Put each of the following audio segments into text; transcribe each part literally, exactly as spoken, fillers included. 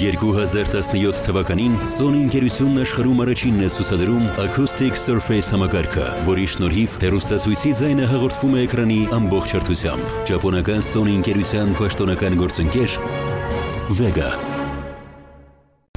երկու հազար տասնյոթ թվականին Sony ընկերությունն աշխարհում առաջինն է ցուցադրում Acoustic Surface համակարգը, որի շնորհիվ հեռուստացույցի ձայնը հաղորդվում է էկրանի ամբողջ հարթությամբ։ Ճապոնական Sony ընկերության պաշտոնական գործընկեր Vega։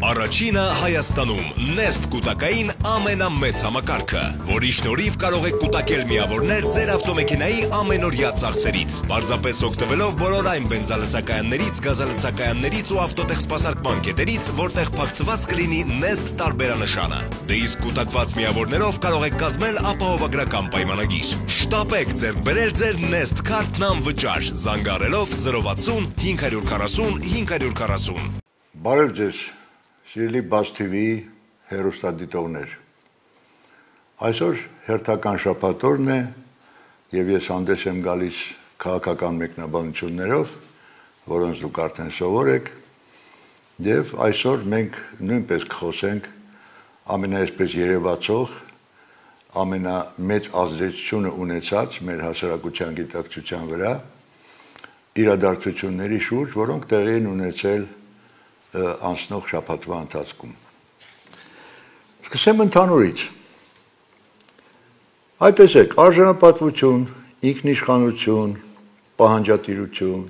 Առաջինը Հայաստանում Nest կուտակային ամենամեծ համակարգը, որի շնորհիվ կարող եք կուտակել միավորներ ձեր ավտոմեքենայի ամենօրյա ծախսերից, պարզապես օգտվելով բոլոր այն բենզալցակայաններից, գազալցակայաններից ու ավտոտեխսպասարկման կետերից, որտեղ փակցված կլինի Nest տարբերանշանը։ Դե իսկ կուտակված միավորներով կարող եք կազմել ապահովագրական պայմանագիր։ Շտապեք ձեռք բերել ձեր Nest քարտն անվճար, զանգահարելով զրո վաթսուն հինգ հարյուր քառասուն հինգ հարյուր քառասուն։ Բարև ձեզ, սիրելի Բաց Թի Վի հեռուստադիտողներ։ Այսօր հերթական շաբաթօրն է եւ ես հանդես եմ գալիս քաղաքական մեկնաբանություններով, որոնց դուք արդեն սովոր եք, եւ այսօր մենք նույնպես կխոսենք ամենաեսպես երևացող, ամենամեծ ազդեցությունը ունեցած մեր հասարակության գիտակցության վրա իրադարձությունների շուրջ, որոնք տեղի են ունեցել անցնող շաբաթվա ընթացքում։ Սկսեմ ընդհանուրից։ Այդ տեսեք, արժանապատվություն, ինքնիշխանություն, պահանջատիրություն,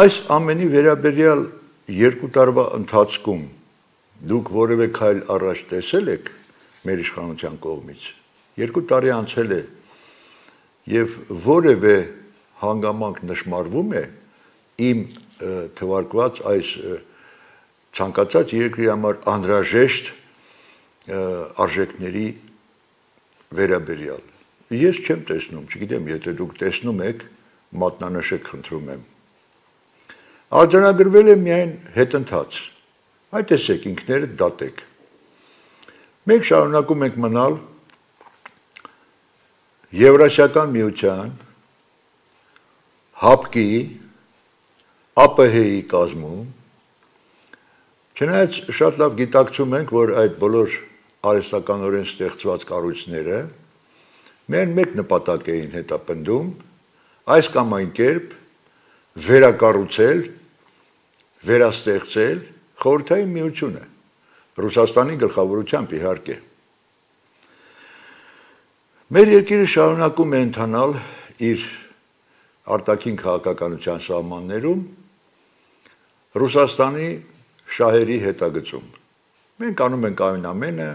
այս ամենի վերաբերյալ երկու տարվա ընթացքում դուք որևէ քայլ առաջ տեսել եք մեր իշխանության կողմից։ Երկու տարի անցել է եւ որևէ հանգամանք նշмарվում է իմ թվարկված այս ցանկացած երկրի համար անհրաժեշտ արժեքների վերաբերյալ։ Ես չեմ տեսնում, չգիտեմ, եթե դուք տեսնում եք, մատնանշեք, խնդրում եմ։ Արձանագրվել է միայն հետընթաց։ Այդ տեսեք, ինքներդ դատեք։ Մենք շարունակում ենք մնալ Եվրասիական միության, ՀԱՊԿ-ի, ԱՊՀ-ի կազմում, չնայած շատ լավ գիտակցում ենք, որ այդ բոլոր արհեստականորեն ստեղծված կառույցները միայն մեկ նպատակ էին հետապնդում, այս կամ այն կերպ վերակառուցել, վերաստեղծել Խորհրդային Միությունը, Ռուսաստանի գլխավորությամբ իհարկե։ Մեր երկիրը շարունակում է ընթանալ իր արտաքին քաղաքականության սահմաններում Ռուսաստանի շահերի հետագծում։ Մենք անում ենք այն ամենը,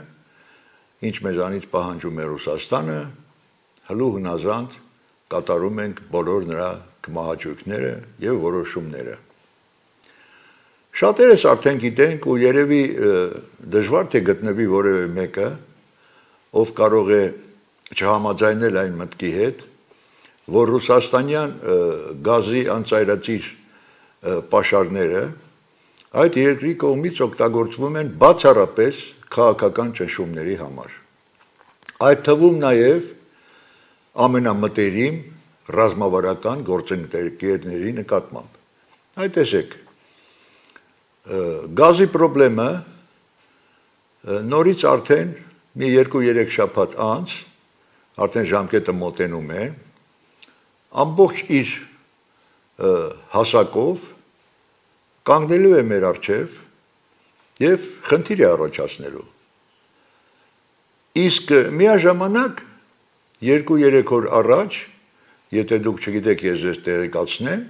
ինչ մեզանից պահանջում է Ռուսաստանը, հլու հնազանդ կատարում ենք բոլոր նրա կմահաճույքները եւ որոշումները։ Շատերս արդեն գիտենք ու երևի դժվար թե գտնվի որևէ մեկը, ով կարող է չհամաձայնել այն մտքի հետ, որ ռուսաստանյան գազի անծայրածիր պաշարները այդ երկրի կողմից օգտագործվում են բացառապես քաղաքական ճնշումների համար։ Այդ թվում նաև ամենամտերիմ ռազմավարական գործընկերների նկատմամբ։ Այդ տեսեք, գազի խնդրը նորից արդեն մի երկու-երեք շաբաթ անց, արդեն ժամկետը մոտենում է, ամբողջ իր հասակով կանգնելու է մեր առջև եւ խնդիր է առաջացնելու։ Իսկ միաժամանակ երկու-երեք օր առաջ, եթե դուք չգիտեք, ես ձեզ տեղեկացնեմ,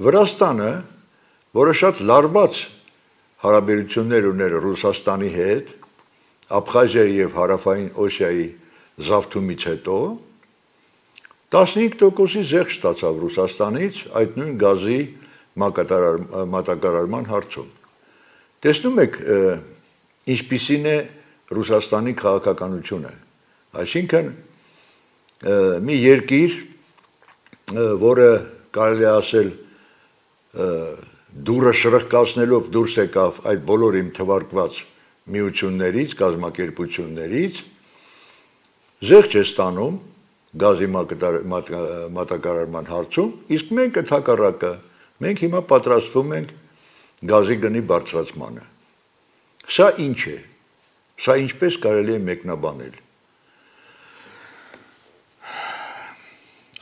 Վրաստանը, որը շատ լարված հարաբերություններ ուներ Ռուսաստանի հետ, Աբխազիայի եւ Հարավային Օսիայի զավթումից հետո, տասնհինգ տոկոսի զեղչ ստացավ Ռուսաստանից այդ նույն գազի մատակարարման հարցում։ Տեսնում եք, ինչպիսին է Ռուսաստանի քաղաքականությունը, այսինքն մի երկիր, որը կարելի է ասել դուրը շրխկացնելով դուրս եկավ այդ բոլոր իմ թվարկված միություններից, կազմակերպություններից, զեղչ է ստանում գազի մատակարարման հարցում, իսկ մենք ընդհակառակը, մենք հիմա պատրաստվում ենք գազի գնի բարձրացմանը։ Սա ինչ է, սա ինչպես կարելի է մեկնաբանել։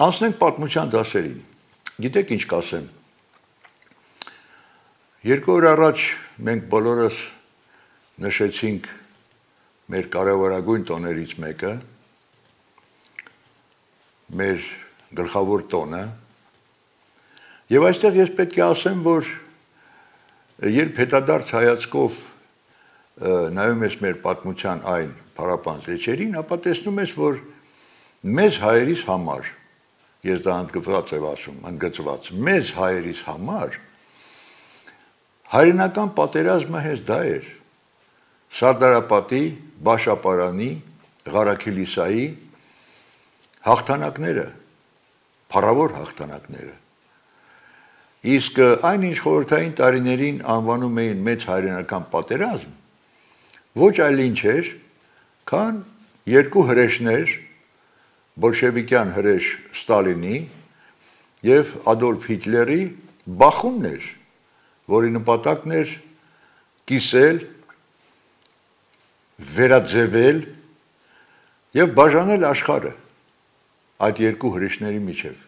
Անցնենք պատմության դասերին, գիտեք ինչ կասեմ, Երկու օր առաջ մենք բոլորս նշեցինք մեր կարևորագույն տոներից մեկը, մեր գլխավոր տոնը, եւ այստեղ ես պետք է ասեմ, որ երբ հետադարձ հայացքով նայում ես մեր պատմության այն փառապանծ էջերին, ապա տեսնում ես, որ մեզ հայերիս համար, ես դա ընդգծված եմ ասում, ընդգծված, մեզ հայերիս համար հայրենական պատերազմը հենց դա էր, Սարդարապատի, Բաշապարանի, Ղարաքիլիսայի հաղթանակները, փառավոր հաղթանակները, իսկ այն ինչ խորհրդային տարիներին անվանում էին մեծ հայրենական պատերազմ, ոչ այլ ինչ էր, քան երկու հրեշներ, բոլշևիկյան հրեշ Ստալինի եւ Ադոլֆ Հիտլերի բախումներ, որի նպատակն էր կիսել, վերաձևել եւ բաժանել աշխարհը այդ երկու հրեշների միջև։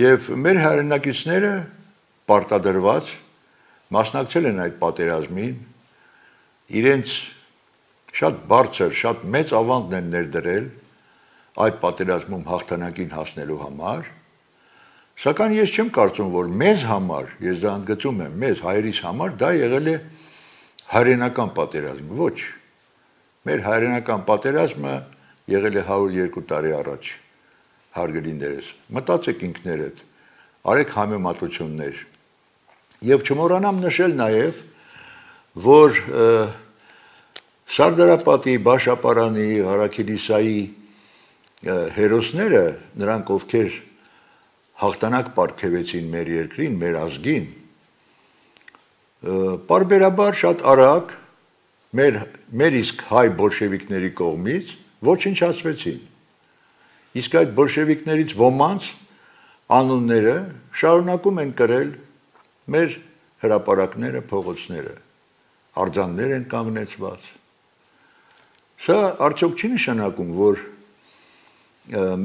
Եվ մեր հայրենակիցները պարտադրված մասնակցել են այդ պատերազմին, իրենց շատ բարձր, շատ մեծ ավանդն են ներդրել այդ պատերազմում հաղթանակին հասնելու համար, սակայն ես չեմ կարծում, որ մեզ համար, ես դա ընդգծում եմ, մեզ հայերիս համար դա եղել է հայրենական պատերազմ, ոչ, մեր հայրենական պատերազմը եղել է հարյուր երկու տարի առաջ, հարգելիներս, մտածեք ինքներդ, արեք համեմատություններ, եւ չմոռանամ նշել նաեւ, որ Սարդարապատի, Բաշապարանի, Ղարաքիլիսայի հերոսները, նրանք ովքեր հաղթանակ պարգևեցին մեր երկրին, մեր ազգին, պարբերաբար շատ արագ մեր, մեր իսկ հայ բոլշևիկների կողմից ոչնչացվեցին։ Իսկ այդ բոլշևիկներից ոմանց անունները շարունակում են կրել մեր հրապարակները, փողոցները, արձաններ են կանգնեցված։ Սա արդյոք չի նշանակում, որ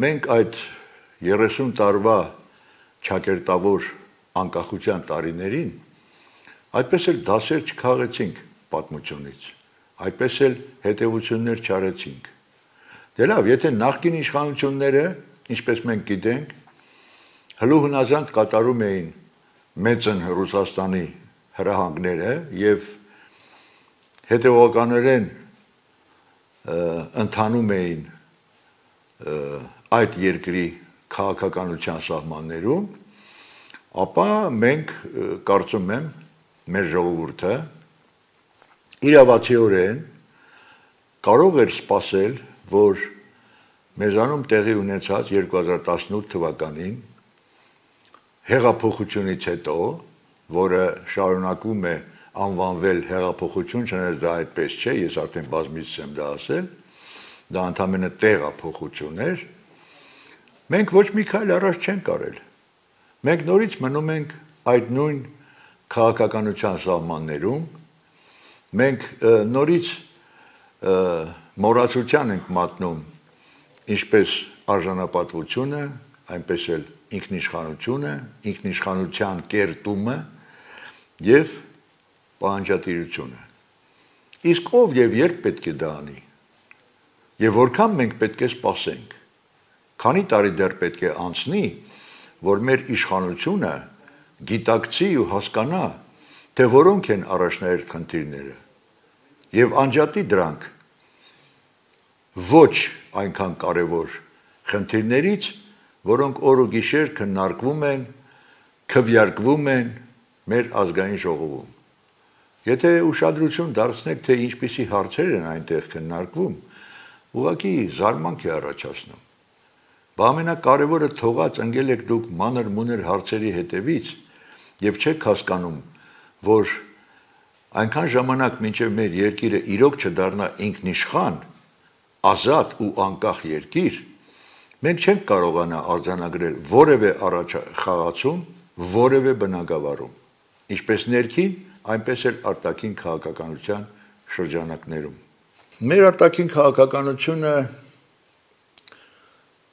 մենք այդ երեսուն տարվա չակերտավոր անկախության տարիներին այդպես էլ դասեր չքաղեցինք պատմությունից, այդպես էլ հետևություններ չարեցինք։ Դե լավ, եթե նախկին իշխանությունները, ինչպես մենք գիտենք, հլու հնազանդ կատարում էին մեծն Ռուսաստանի հրահանգները եւ հետևողականորեն ընթանում էին այդ երկրի քաղաքականության սահմաններում, ապա մենք կարծում եմ մեր ժողովուրդը իրավացիորեն կարող էր սպասել, որ մեզանում տեղի ունեցած երկու հազար տասնութ թվականին հեղափոխությունից հետո, որը շարունակում է անվանվել հեղափոխություն, չնայած դա այդպես չէ, ես արդեն բազմիցս եմ դա ասել, դա ընդամենը տեղափոխություն էր, մենք ոչ մի քայլ առաջ չենք արել։ Մենք նորից մնում ենք այդ նույն քաղաքականության սահմաններում, մենք նորից մոռացության ենք մատնում ինչպես արժանապատվությունը, այնպես էլ ինքնիշխանությունը, ինքնիշխանության կերտումը եւ պահանջատիրությունը։ Իսկ ով եւ երբ պետք է դա անի։ Եվ որքան մենք պետք է սպասենք։ Քանի տարի դեռ պետք է անցնի, որ մեր իշխանությունը գիտակցի ու հասկանա, թե որոնք են առաջնահերթ խնդիրները եւ անջատի դրանք ոչ այնքան կարևոր խնդիրներից, որոնք օր ու գիշեր քննարկվում են, քվեարկվում են մեր ազգային ժողովում։ Եթե ուշադրություն դարձնեք, թե ինչպիսի հարցեր են այնտեղ քննարկվում, ուղղակի զարմանք է առաջացնում։ Բա ամենակարևորը թողած ընկել եք դուք մանր-մունր հարցերի հետևից եւ չեք հասկանում, որ այնքան ժամանակ մինչև մեր երկիրը իրոք չդառնա ինքնիշխան, ազատ ու անկախ երկիր, մենք չենք կարողանա արձանագրել որևէ առաջխաղացում, որևէ բնագավառում, ինչպես ներքին, այնպես էլ արտաքին քաղաքականության շրջանակներում։ Մեր արտաքին քաղաքականությունը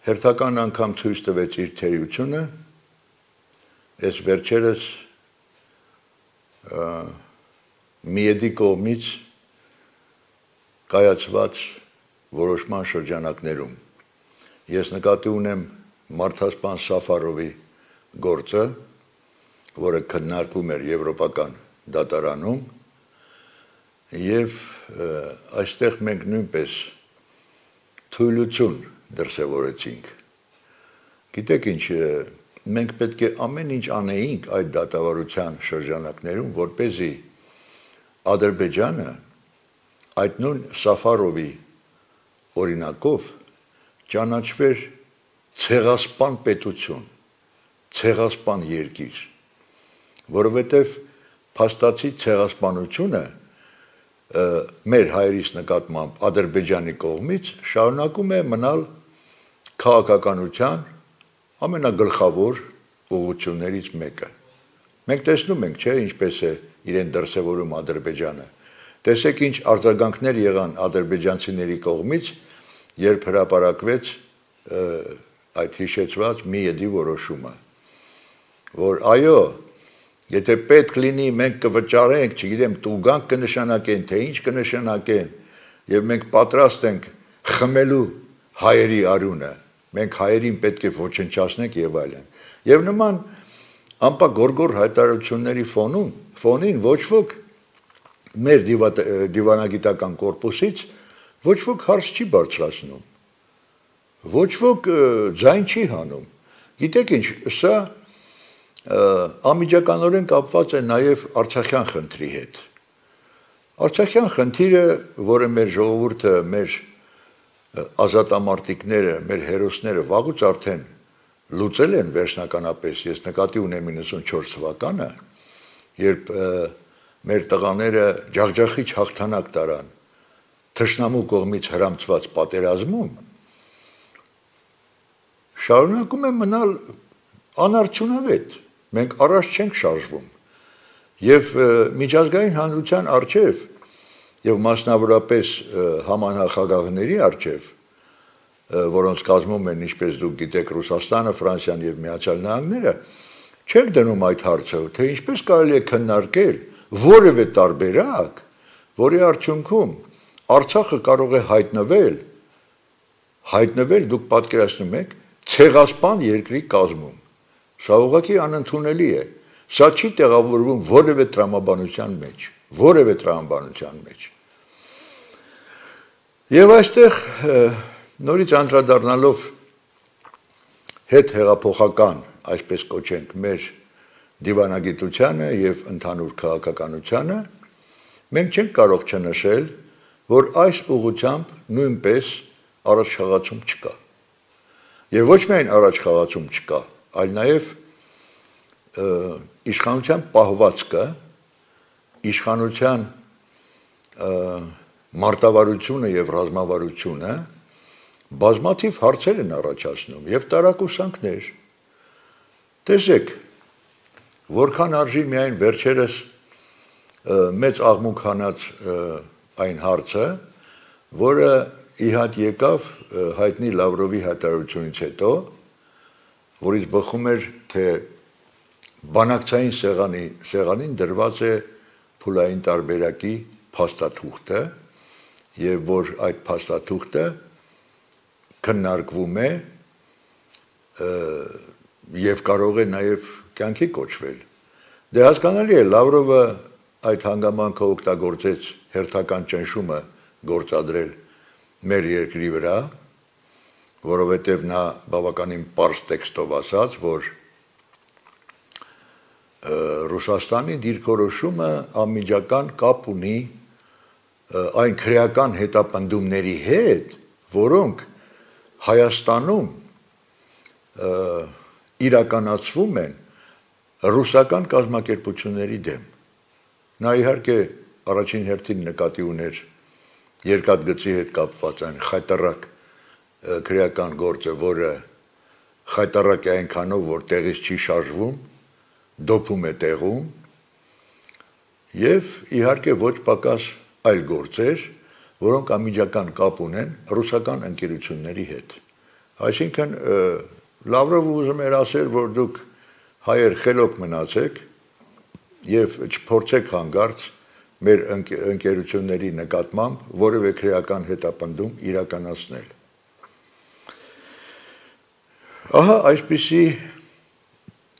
հերթական անգամ ցույց տվեց իր թերությունը, այս վերջերս միեդի կողմից կայացված որոշման շրջանակներում։ Ես նկատի ունեմ մարդասպան Սաֆարովի գործը, որը քննարկվում էր Եվրոպական դատարանում, եւ այստեղ մենք նույնպես թույլություն դրսևորեցինք։ Գիտեք ինչ, մենք պետք է ամեն ինչ անեինք այդ դատավարության շրջանակներում, որպեսզի Ադրբեջանը այդ նույն Սաֆարովի օրինակով ճանաչվեր ցեղասպան պետություն, ցեղասպան երկիր, որովհետև փաստացի ցեղասպանությունը մեր հայրից նկատմամբ Ադրբեջանի կողմից շարունակում է մնալ քաղաքականության ամենագլխավոր ուղղություններից մեկը։ Մենք տեսնում ենք, չէ, ինչպես է իրեն դրսևորում Ադրբեջանը։ Տեսեք ինչ արձագանքներ եղան ադրբեջանցիների կողմից, երբ հրապարակվեց այդ հիշեցված միեդի որոշումը, որ այո, եթե պետք լինի մենք կվճարենք, չգիտեմ, տուգանք կնշանակեն, թե ինչ կնշանակեն, եւ մենք պատրաստ ենք խմելու հայերի արյունը, մենք հայերին պետք է ոչնչացնենք եւ այլն։ Եվ նման ամպագորգոր հայտարարությունների ֆոնում, ֆոնին ոչ ոք մեր դիվանագիտական կորպուսից ոչ ոք հարց չի բարձրացնում, ոչ ոք ձայն չի հանում։ Գիտեք ինչ, սա անմիջականորեն կապված է նաև Արցախյան խնդրի հետ։ Արցախյան խնդիրը, որը մեր ժողովուրդը, մեր ազատամարտիկները, մեր հերոսները վաղուց արդեն լուծել են վերջնականապես, ես նկատի ունեմ իննսունչորս թվականը, երբ մեր տղաները ջախջախիչ հաղթանակ տարան թշնամու կողմից հրամցված պատերազմում, շարունակում է մնալ անարդյունավետ։ Մենք առաջ չենք շարժվում եւ միջազգային հանրության առջեւ եւ մասնավորապես համանախագահների առջեւ, որոնց կազմում են, ինչպես դուք գիտեք, Ռուսաստանը, Ֆրանսիան եւ Միացյալ Նահանգները, չենք դնում այդ հարցը, թե ինչպես կարելի է քննարկել որևէ տարբերակ, որի արդյունքում Արցախը կարող է հայտնվել, հայտնվել, դուք պատկերացնում եք, ցեղասպան երկրի կազմում։ Սա ուղղակի անընդունելի է։ Սա չի տեղավորվում որևէ տրամաբանության մեջ, որևէ տրամաբանության մեջ։ Եվ այստեղ նորից անդրադառնալով հետ հեղափոխական, այսպես կոչենք, մեր դիվանագիտությանը եւ ընդհանուր քաղաքականությանը, մենք չենք կարող չնշել, որ այս ուղղությամբ նույնպես առաջխաղացում չկա։ Եվ ոչ միայն առաջխաղացում չկա, այլ նաև իշխանության պահվածքը, իշխանության մարտավարությունը եւ ռազմավարությունը բազմաթիվ հարցեր են առաջացնում եւ տարակուսանքներ։ Տեսեք, որքան արժի միայն վերջերս մեծ աղմուկ հանած այն հարցը, որը իհատ եկավ հայտնի Լավրովի հայտարարությունից հետո, որից բխում էր, թե բանակցային սեղանի, սեղանին դրված է փուլային տարբերակի փաստաթուղթը եւ որ այդ փաստաթուղթը քննարկվում է եւ կարող է նաեւ կյանքի կոչվել։ Դե հասկանալի է, Լավրովը այդ հանգամանքը օգտագործեց հերթական ճնշումը գործադրել մեր երկրի վրա, որովհետև նա բավականին պարզ տեքստով ասաց, որ Ռուսաստանի դիրքորոշումը անմիջական կապ ունի այն քրեական հետապնդումների հետ, որոնք Հայաստանում իրականացվում են ռուսական կազմակերպությունների դեմ։ Նա իհարկե առաջին հերթին նկատի ուներ երկաթգծի հետ կապված այն խայտարակ քրեական գործը, որը խայտարակ է այնքանով, որ տեղից չի շարժվում, դոփում է տեղում, եւ իհարկե ոչ պակաս այլ գործեր, որոնք անմիջական կապ ունեն ռուսական ընկերությունների հետ։ Այսինքն Լավրովը ուզում էր ասել, որ դուք հայեր խելոք մնացեք, եւ չփորձեք հանգարց մեր ընկերությունների նկատմամբ որևէ քրեական հետապնդում իրականացնել։ Ահա այսպիսի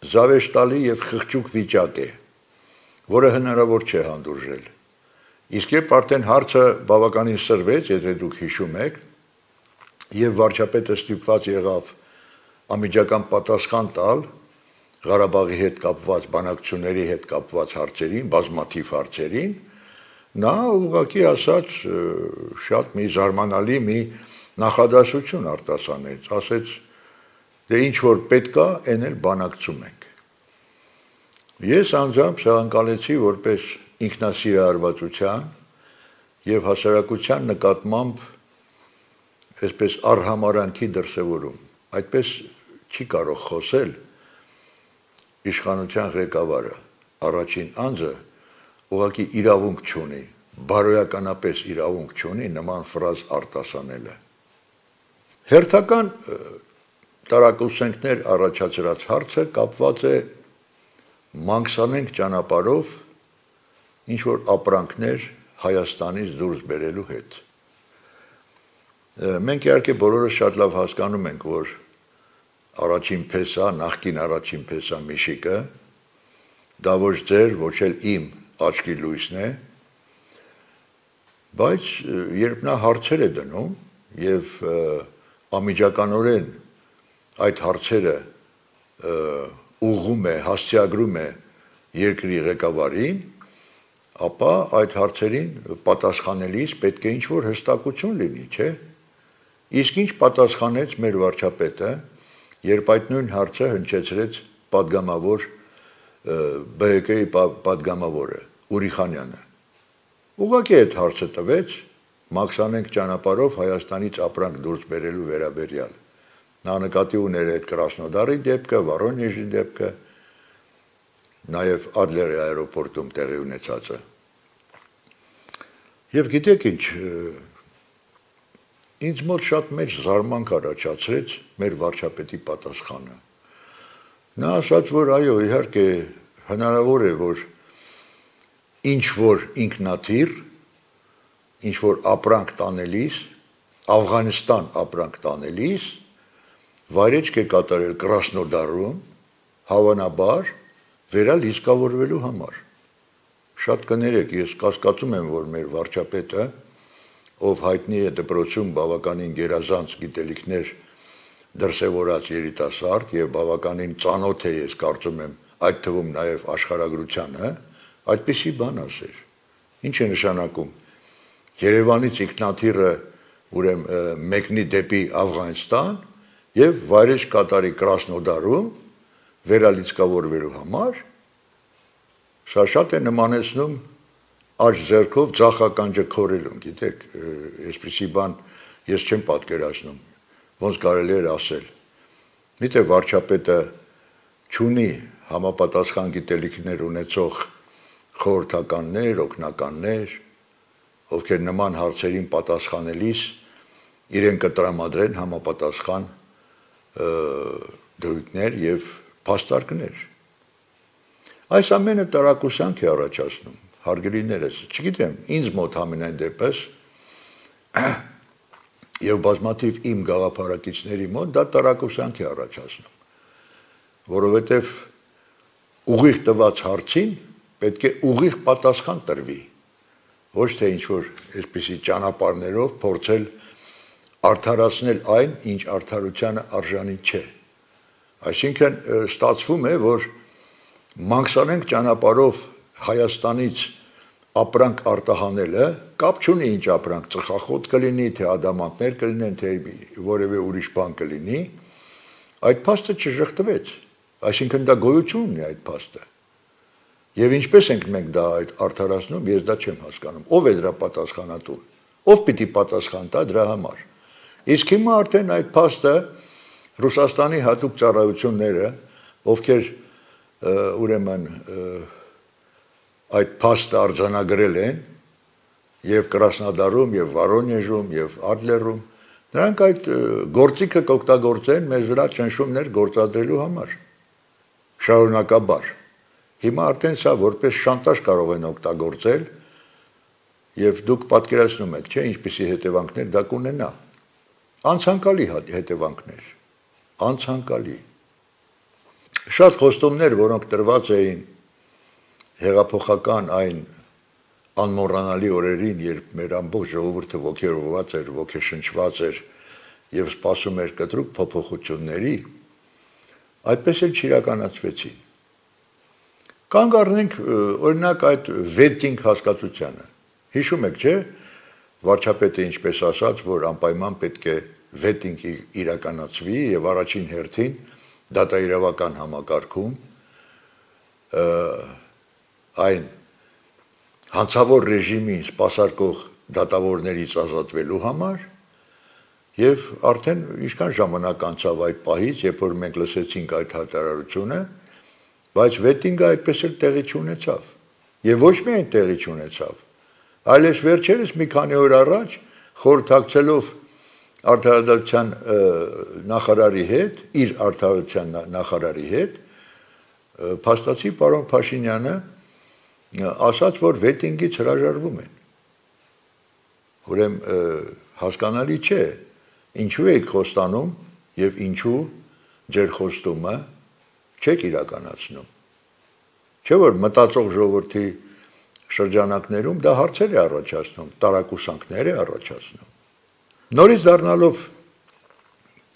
զավեշտալի եւ խղճուկ վիճակ է, որը հնարավոր չէ հանդուրժել։ Իսկ երբ արդեն հարցը բավականին սրվեց, եթե դուք հիշում եք, եւ վարչապետը ստիպված եղավ անմիջական պատասխան տալ Ղարաբաղի հետ կապված բանակցությունների հետ կապված հարցերին, բազմաթիվ հարցերին, նա ուղղակի ասաց շատ մի զարմանալի մի նախադասություն արտասանեց, ասեց, դե ինչ որ պետք է, այն էլ բանակցում ենք։ Ես անձամբ շահանկալեցի որպես ինքնասիրահարվածության եւ հասարակության նկատմամբ այսպես առհամարանքի դրսևորում, այդպես չի կարող խոսել իշխանության ղեկավարը, առաջին անձը ուղղակի իրավունք չունի, բարոյականապես իրավունք չունի նման ֆրազ արտասանելը։ Հերթական տարակուսենքներ առաջացրած հարցը կապված է մանգսանենք ճանապարհով ինչ որ ապրանքներ Հայաստանից դուրս բերելու հետ։ Մենք իհարկե բոլորս շատ լավ հասկանում ենք, որ առաջին փեսա, նախկին առաջին փեսա Միշիկը, դա ոչ ձեր, ոչ էլ իմ աչքի լույսն է, բայց երբ նա հարցեր է դնում եւ անմիջականորեն այդ հարցերը ուղղում է, հասցեագրում է երկրի ղեկավարին, ապա այդ հարցերին պատասխանելիս պետք է ինչ-որ հստակություն լինի, չէ՞։ Իսկ ինչ պատասխանեց մեր վարչապետը, երբ այդ նույն հարցը հնչեցրեց պատգամավոր B H K-ի պատգամավորը Ուրիխանյանը։ Ուղղակի այդ հարցը տվեց մաքսանենք ճանապարհով Հայաստանից ապրանք դուրս բերելու վերաբերյալ։ Նա նկատի ուներ այդ Կրասնոդարի դեպքը, Վորոնեժի դեպքը, նաև Ադլերի аэроպորտում տեղի ունեցածը։ Եվ գիտեք ինչ, ինձ մոտ շատ մեծ զարմանք առաջացրեց մեր վարչապետի պատասխանը։ Նա ասաց, որ այո, իհարկե հնարավոր է, որ ինչ որ ինքնաթիռ, ինչ որ ապրանք տանելիս, Աֆղանստան ապրանք տանելիս, վայրեջք է կատարել Կրասնոդարում, հավանաբար վերալ իսկավորվելու համար։ Շատ կներեք, ես կասկածում եմ, որ մեր վարչապետը, ով հայտնի է դպրոցում բավականին գերազանց գիտելիքներ դրսևորած երիտասարդ եւ բավականին ծանոթ է, ես կարծում եմ, այդ թվում նաեւ աշխարհագրությանը, այդպիսի բան ասեր։ Ինչ է նշանակում։ Երևանից ինքնաթիռը ուրեմն մեկնի դեպի Աֆղանստան եւ վայրեջք կատարի Կրասնոդարում վերալիցկավորվելու համար, սա շատ է նմանեցնում աջ ձեռքով ձախականջը քորելուն, գիտեք, այսպիսի բան ես չեմ պատկերացնում, ոնց կարելի էր ասել։ Միտե վարչապետը չունի համապատասխան գիտելիքներ ունեցող խորհրդականներ, օգնականներ, ովքեր նման հարցերին պատասխանելիս իրեն կտրամադրեն համապատասխան դրույթներ եւ փաստարկներ։ Այս ամենը տարակուսանք է առաջացնում, հարգելիներս, չգիտեմ, ինձ մոտ ամենայն դեպս եւ բազմաթիվ իմ գաղափարակիցների մոտ դա տարակուսանք է առաջացնում, որովհետեւ ուղիղ տված հարցին պետք է ուղիղ պատասխան տրվի, ոչ թե ինչ-որ այսպիսի ճանապարհներով փորձել արդարացնել այն, ինչ արդարությանը արժանի չէ։ Այսինքն ստացվում է, որ մանգսանենք ճանապարհով Հայաստանից ապրանք արտահանելը կապ չունի ինչ ապրանք, ծխախոտ կլինի, թե ադամանդներ կլինեն, թե որևէ ուրիշ բան կլինի, այդ փաստը չժխտվեց, այսինքն դա գոյություն ունի այդ փաստը։ Եվ ինչպես ենք մենք դա այդ արդարացնում, ես դա չեմ հասկանում, ով է դրա պատասխանատուն, ով պիտի պատասխան տա դրա համար։ Իսկ հիմա արդեն այդ փաստը Ռուսաստանի հատուկ ծառայությունները, ովքեր ուրեմն այդ փաստը արձանագրել են եւ Կրասնոդարում եւ Վորոնեժում եւ Ադլերում, նրանք այդ գործիքը կօգտագործեն մեզ վրա ճնշումներ գործադրելու համար։ Շարունակաբար։ Հիմա արդեն սա որպես շանտաժ կարող են օգտագործել եւ դուք պատկերացնում եք, չէ, ինչպիսի հետևանքներ դա կունենա։ Անցանկալի հետևանքներ, անցանկալի։ Շատ խոստումներ, որոնք տրված էին հեղափոխական այն անմոռանալի օրերին, երբ մեր ամբողջ ժողովուրդը ոգևորված էր, ոգեշնչված էր եւ սպասում էր կտրուկ փոփոխությունների, այդպես էլ չիրականացվեցին։ Կանգ առնենք օրինակ այդ վետինգ հասկացությանը։ Հիշում եք, չէ՞, վարչապետը ինչպես ասաց, որ անպայման պետք է վետինգ իրականացվի եւ առաջին հերթին դատաիրավական համակարգում այն հանցավոր ռեժիմին սպասարկող դատավորներից ազատվելու համար եւ արդեն ինչքան ժամանակ անցավ այդ պահից, երբ որ մենք լսեցինք այդ հայտարարությունը, բայց վետինգը այդպես էլ տեղի չունեցավ։ Եվ ոչ միայն տեղի չունեցավ, այլև վերջերս մի քանի օր առաջ խորհրդակցելով արդարադատության նախարարի հետ, իր արդարության նախարարի հետ, փաստացի պարոն Փաշինյանը ասաց, որ վետինգից հրաժարվում են։ Ուրեմն հասկանալի չէ, ինչու եք խոստանում եւ ինչու ձեր խոստումը չեք իրականացնում։ Չէ՞ որ մտածող ժողովրդի շրջանակներում դա հարցեր է առաջացնում, տարակուսանքներ է առաջացնում։ Նորից դառնալով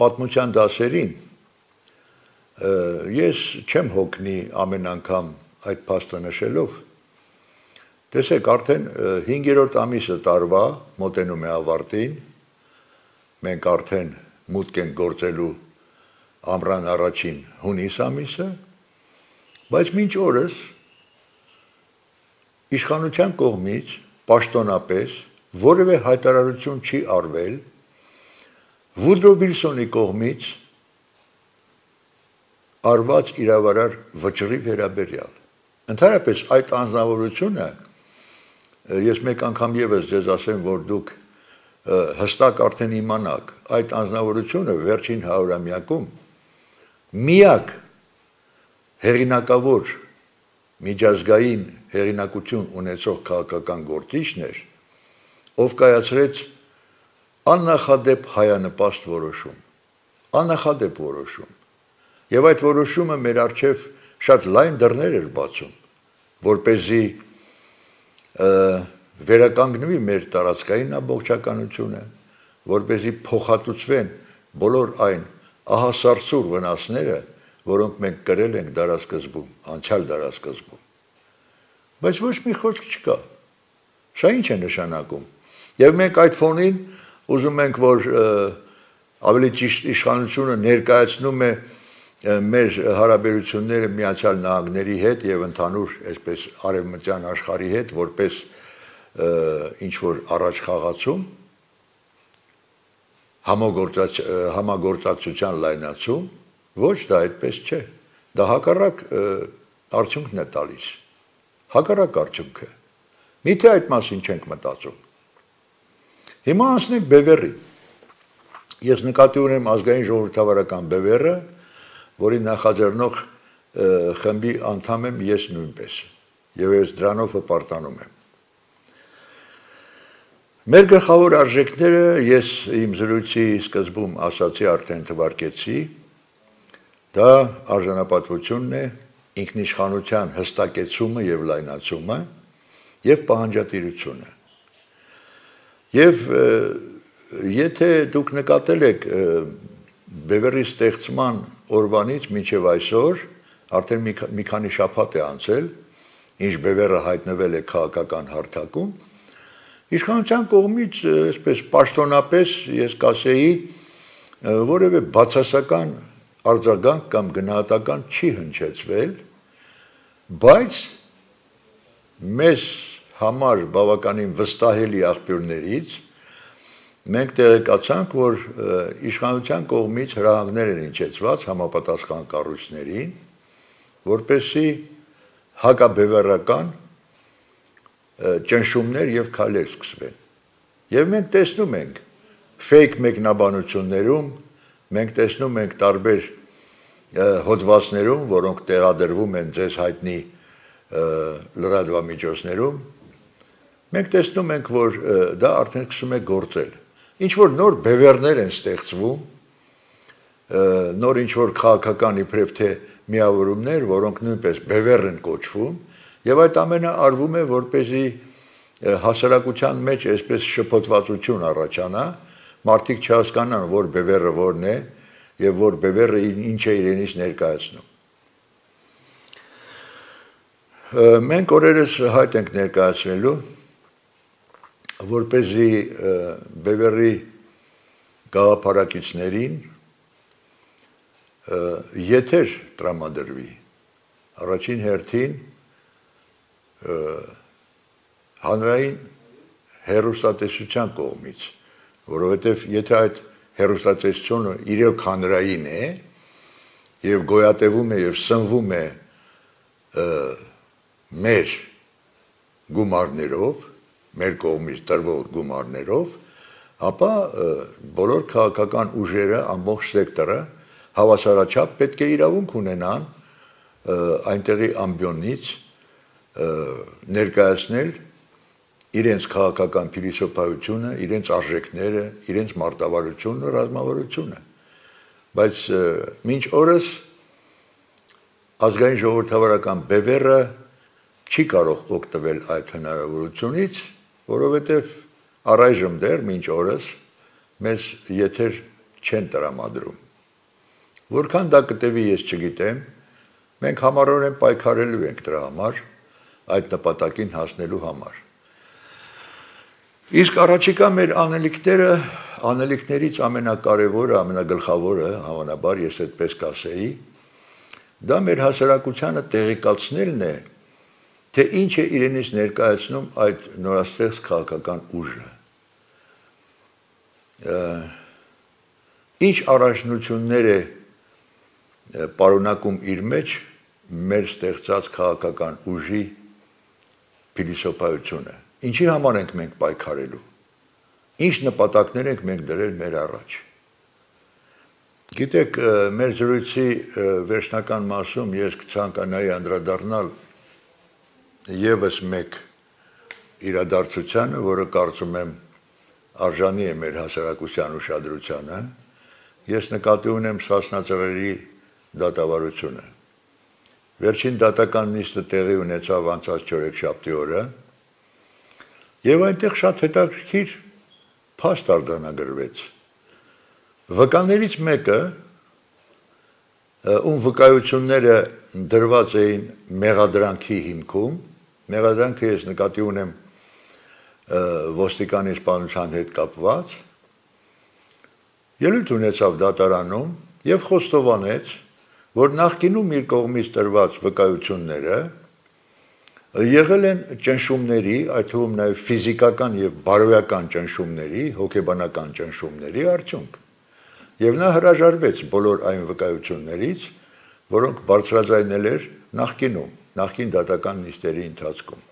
պատմության դասերին, ես չեմ հոգնի ամեն անգամ այդ փաստը նշելով։ Տեսեք, արդեն հինգերորդ ամիսը տարվա մոտենում է ավարտին, մենք արդեն մուտք ենք գործելու ամռան առաջին հունիս ամիսը, բայց մինչ օրս իշխանության կողմից պաշտոնապես որևէ հայտարարություն չի արվել Վուդրո Վիլսոնի կողմից արված իրավարար վճռի վերաբերյալ։ Ընդհանրապես այդ անձնավորությունը, ես մեկ անգամ եւս ձեզ ասեմ, որ դուք հստակ արդեն իմանաք, այդ անձնավորությունը վերջին հարյուրամյակում միակ հեղինակավոր միջազգային հեղինակություն ունեցող քաղաքական գործիչն էր, ով կայացրեց աննախադեպ հայանպաստ որոշում, աննախադեպ որոշում, եւ այդ որոշումը մեր առջև շատ լայն դռներ էր բացում, որպեսզի վերականգնվի մեր տարածքային ամբողջականությունը, որպեսզի փոխհատուցվեն բոլոր այն ահասարսուր վնասները, որոնք մենք կրել ենք դարաշրջանում, անցյալ դարաշրջանում։ Բայց ոչ մի խոսք չկա։ Սա ինչ է նշանակում։ Եվ մենք այդ ֆոնին ուզում ենք, որ ավելի ճիշտ իշխանությունը ներկայացնում է մեր հարաբերությունները Միացյալ Նահանգների հետ եւ ընդհանուր այսպես արևմտյան աշխարհի հետ որպես ինչ որ առաջ խաղացում համագործակցության լայնացում, ոչ դա այդպես չէ։ Դա հակառակ արդյունքն է տալիս։ Հակառակ արդյունքը։ Միթե այդ մասին չենք մտածում։ Հիմա անցնենք բևեռին։ Ես նկատի ունեմ ազգային ժողովրդավարական բևեռը, որի նախաձեռնող խմբի անդամ եմ ես նույնպես, եւ ես դրանով հպարտանում եմ։ Մեր գլխավոր արժեքները ես իմ զրույցի սկզբում ասացի, արդեն թվարկեցի, դա արժանապատվությունն է, ինքնիշխանության հստակեցումը եւ լայնացումը եւ պահանջատիրությունը։ Եվ եթե դուք նկատել եք բևեռի ստեղծման օրվանից մինչև այսօր, արդեն մի քանի շաբաթ է անցել, ինչ բևեռը հայտնվել է քաղաքական հարթակում, իշխանության կողմից այսպես պաշտոնապես ես կասեի որևէ բացասական արձագանք կամ գնահատական չի հնչեցվել, բայց մեզ համար բավականին վստահելի աղբյուրներից մենք տեղեկացանք, որ իշխանության կողմից հրահանգներ են հնչեցված համապատասխան կառույցներին, որպեսզի հակաբևեռական ճնշումներ եւ քայլեր սկսվեն։ Եվ մենք տեսնում ենք ֆեյք մեկնաբանություններում, մենք տեսնում ենք տարբեր հոդվածներում, որոնք տեղադրվում են ձեզ հայտնի լրատվամիջոցներում, մենք տեսնում ենք, որ դա արդեն սկսում է գործել։ Ինչ որ նոր բևեռներ են ստեղծվում, նոր ինչ որ քաղաքական իբրև թե միավորումներ, որոնք նույնպես բևեռ են կոչվում, եւ այդ ամենը արվում է, որպեսզի հասարակության մեջ այսպես շփոթվածություն առաջանա, մարդիկ չհասկանան, որ բևեռը որն է եւ որ բևեռը ինչ է իրենից ներկայացնում։ Մենք օրերս հայտ ենք ներկայացնելու, որպեսզի բևեռի գաղափարակիցներին եթեր տրամադրվի, առաջին հերթին հանրային հեռուստատեսության կողմից, որովհետև եթե այդ հեռուստատեսությունը իրոք հանրային է եւ գոյատևում է եւ սնվում է մեր գումարներով, մեր կողմից տրվող գումարներով, ապա բոլոր քաղաքական ուժերը, ամբողջ սեկտորը հավասարաչափ պետք է իրավունք ունենան այնտեղի ամբիոնից ներկայացնել իրենց քաղաքական փիլիսոփայությունը, իրենց արժեքները, իրենց մարտավարությունը, ռազմավարությունը։ Բայց մինչ օրս ազգային ժողովրդավարական բևեռը չի կարող օգտվել այդ հնարավորությունից, որովհետև առայժմ դեռ մինչ օրս մեզ եթեր չեն տրամադրում։ Որքան դա կտևի ես չգիտեմ, մենք համառորեն պայքարելու ենք դրա համար, այդ նպատակին հասնելու համար։ Իսկ առաջիկա մեր անելիքները, անելիքներից ամենակարևորը, ամենագլխավորը, հավանաբար ես այդպես կասեի, դա մեր հասարակությանը տեղեկացնելն է, թե ինչ է իրենից ներկայացնում այդ նորաստեղծ քաղաքական ուժը։ Ինչ առաջնություններ է պարունակում իր մեջ մեր ստեղծած քաղաքական ուժի փիլիսոփայությունը։ Ինչի համար ենք մենք պայքարելու։ Ինչ նպատակներ ենք մենք դրել մեր առաջ։ Գիտեք, մեր զրույցի վերջնական մասում ես կցանկանայի անդրադառնալ եւս մեկ իրադարձությանը, որը կարծում եմ արժանի է մեր հասարակության ուշադրությանը, ես նկատի ունեմ Սասնա ծռերի դատավարությունը։ Վերջին դատական նիստը տեղի ունեցավ անցած չորեքշաբթի օրը, եւ այնտեղ շատ հետաքրքիր փաստ արձանագրվեց։ Վկաներից մեկը, ում վկայությունները դրված էին մեղադրանքի հիմքում, մեղադրանքը ես նկատի ունեմ ոստիկանի սպանության հետ կապված, ելույթ ունեցավ դատարանում եւ խոստովանեց, որ նախկինում իր կողմից տրված վկայությունները եղել են ճնշումների, այդ թվում նաեւ ֆիզիկական եւ բարոյական ճնշումների, հոգեբանական ճնշումների արդյունք։ Եվ նա հրաժարվեց բոլոր այն վկայություններից, որոնք բարձրաձայնել էր նախկինում, նախկին դատական նիստերի ընթացքում։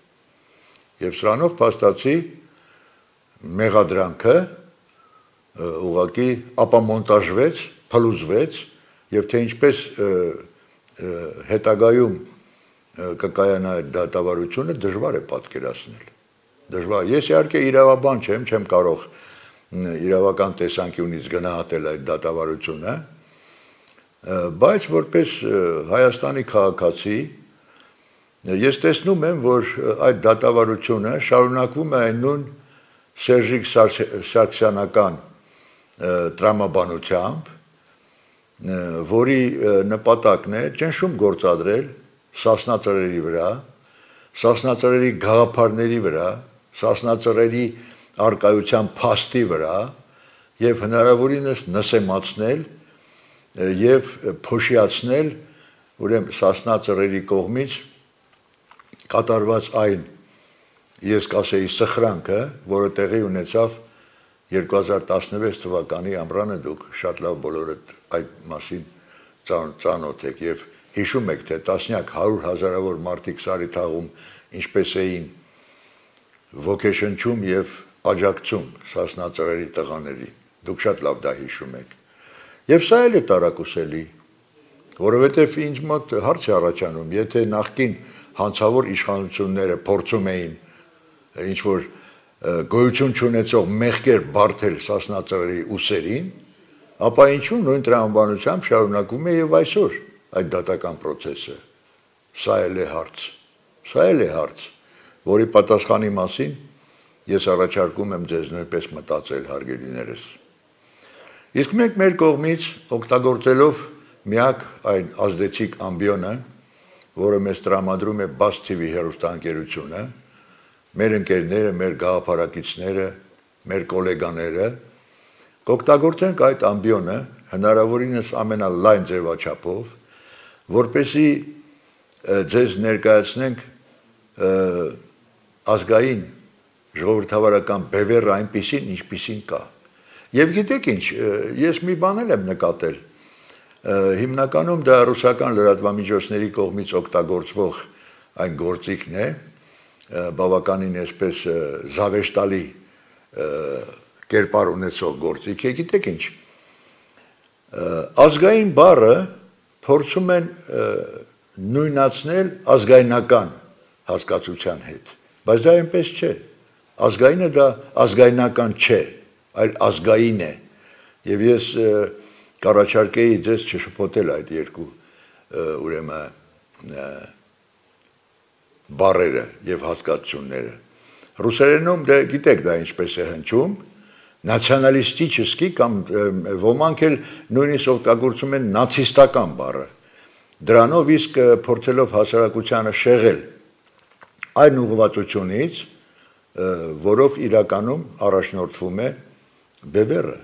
Եվ սրանով փաստացի մեղադրանքը ուղղակի ապամոնտաժվեց, փլուզվեց, եւ թե ինչպես հետագայում կկայանա այդ դատավարությունը դժվար է պատկերացնել։ Դժվար։ Ես իհարկե իրավաբան չեմ, չեմ կարող իրավական տեսանկյունից գնահատել այդ դատավարությունը, բայց որպես Հայաստանի քաղաքացի ես տեսնում եմ, որ այդ դատավարությունը շարունակվում է այն նույն Սերժիկ Սարգսյանական տրամաբանությամբ, որի նպատակն է ճնշում գործադրել Սասնա ծռերի վրա, Սասնա ծռերի գաղափարների վրա, Սասնա ծռերի արկայության փաստի վրա եւ հնարավորինս նսեմացնել եւ փոշիացնել ուրեմն Սասնա ծռերի կողմից կատարված այն ես կասեի սխրանքը, որը տեղի ունեցավ երկու հազար տասնվեց թվականի ամռանը, դուք շատ լավ բոլորդ այդ մասին ծանոթ եք եւ հիշում եք, թե տասնյակ հարյուր հազարավոր մարդիկ Սարի թաղում ինչպես էին ոգեշնչում եւ աջակցում Սասնա ծռերի տղաներին։ Դուք շատ լավ դա հիշում եք։ Եվ սա էլ է տարակուսելի, որովհետև ինձ մոտ հարց է առաջանում, եթե նախկին հանցավոր իշխանությունները փորձում էին ինչ-որ գոյություն չունեցող մեղքեր բարթել Սասնա Ծռերի ուսերին, ապա ինչու նույն տրամաբանությամբ շարունակում է եւ այսօր այդ դատական process-ը։ Սա էլ է հարց։ Սա էլ է հարց, որի պատասխանի մասին ես առաջարկում եմ ձեզ նույնպես մտածել, հարգելիներս։ Իսկ մենք մեր կողմից օգտագործելով միակ այն ազդեցիկ ամբիոնը, որը մեզ տրամադրում է Բաց թի վի հեռուստաընկերությունը, մեր ընկերները, մեր գաղափարակիցները, մեր գոլեգաները, կօգտագործենք այդ ամբիոնը հնարավորինս ամենալայն ձևաչափով, որպեսզի ձեզ ներկայացնենք ազգային ժողովրդավարական բևեռը այնպիսին, ինչպիսին կա։ Եվ գիտեք ինչ, ես մի բան էլ եմ նկատել, հիմնականում դա ռուսական լրատվամիջոցների կողմից օգտագործվող այն գործիքն է, բավականին այսպես զավեշտալի կերպար ունեցող գործիք է, գիտեք ինչ, ազգային բառը փորձում են նույնացնել ազգայնական հասկացության հետ, բայց դա այնպես չէ, ազգայինը դա ազգայնական չէ, այլ ազգային է, եւ ես կառաջարկեի ձեզ չշփոթել այդ երկու ուրեմն բառերը եւ հասկացությունները։ Ռուսերենում դե գիտեք դա ինչպես է հնչում, նացիոնալիստիչեսկի կամ ոմանք էլ նույնիսկ օգտագործում են նացիստական բառը։ Դրանով իսկ փորձելով հասարակությանը շեղել այն ուղղվածությունից, որով իրականում առաջնորդվում է բևեռը։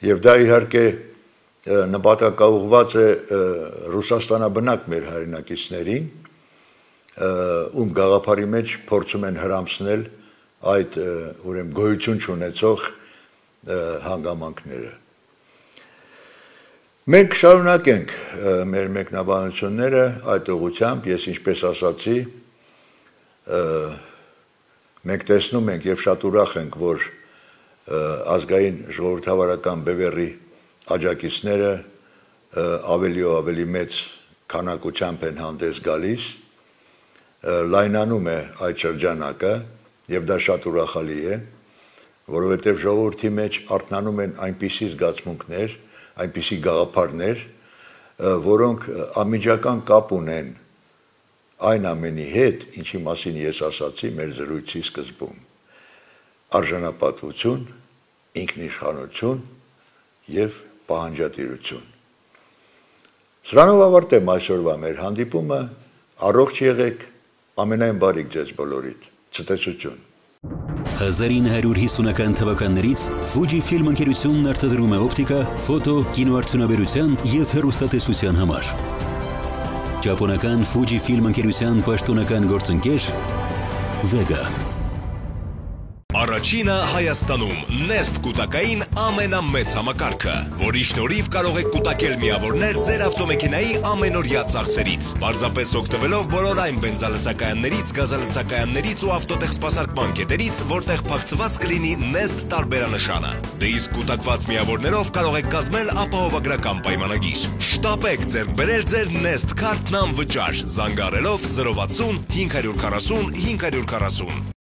Եվ դա իհարկե նպատակաուղղված է Ռուսաստանաբնակ մեր հայրենակիցներին, ում գաղափարի մեջ փորձում են հրամցնել այդ ուրեմն գոյություն չունեցող հանգամանքները։ Մենք շարունակենք մեր մեկնաբանությունները այդ ուղղությամբ, ես ինչպես ասացի, մենք տեսնում ենք եւ շատ ուրախ ենք, որ ազգային ժողովրդավարական բևեռի աջակիցները ավելի ու ավելի մեծ քանակությամբ են հանդես գալիս, լայնանում է այդ շրջանակը եւ դա շատ ուրախալի է, որովհետեւ ժողովրդի մեջ արթնանում են այնպիսի զգացմունքներ, այնպիսի գաղափարներ, որոնք անմիջական կապ ունեն այն ամենի հետ, ինչի մասին ես ասացի մեր զրույցի սկզբում։ Արժանապատվություն, ինքնիշխանություն եւ պահանջատիրություն։ Սրանով ավարտեմ այսօրվա մեր հանդիպումը, առողջ եղեք, ամենայն բարիք ձեզ բոլորիդ, ցտեսություն։ հազար ինը հարյուր հիսունական թվականներից Fujifilm ընկերությունն արտադրում է օպտիկա, ֆոտո, կինոարդյունաբերության եւ հեռուստատեսության համար։ Ճապոնական Fujifilm ընկերության պաշտոնական գործընկեր Vega։ Առաջինը Հայաստանում Nest կուտակային ամենամեծ համակարգը, որի շնորհիվ կարող եք կուտակել միավորներ ձեր ավտոմեքենայի ամենօրյա ծախսերից, պարզապես օգտվելով բոլոր այն բենզալցակայաններից, գազալցակայաններից ու ավտոտեխ սպասարկման կետերից, որտեղ փակցված կլինի Nest տարբերանշանը։ Դե իսկ կուտակված միավորներով կարող եք կազմել ապահովագրական պայմանագիր։ Շտապեք ձեռք բերել ձեր Nest քարտն անվճար, զանգարելով զրո վաթսուն հինգ հարյուր քառասուն հինգ հարյուր քառասուն։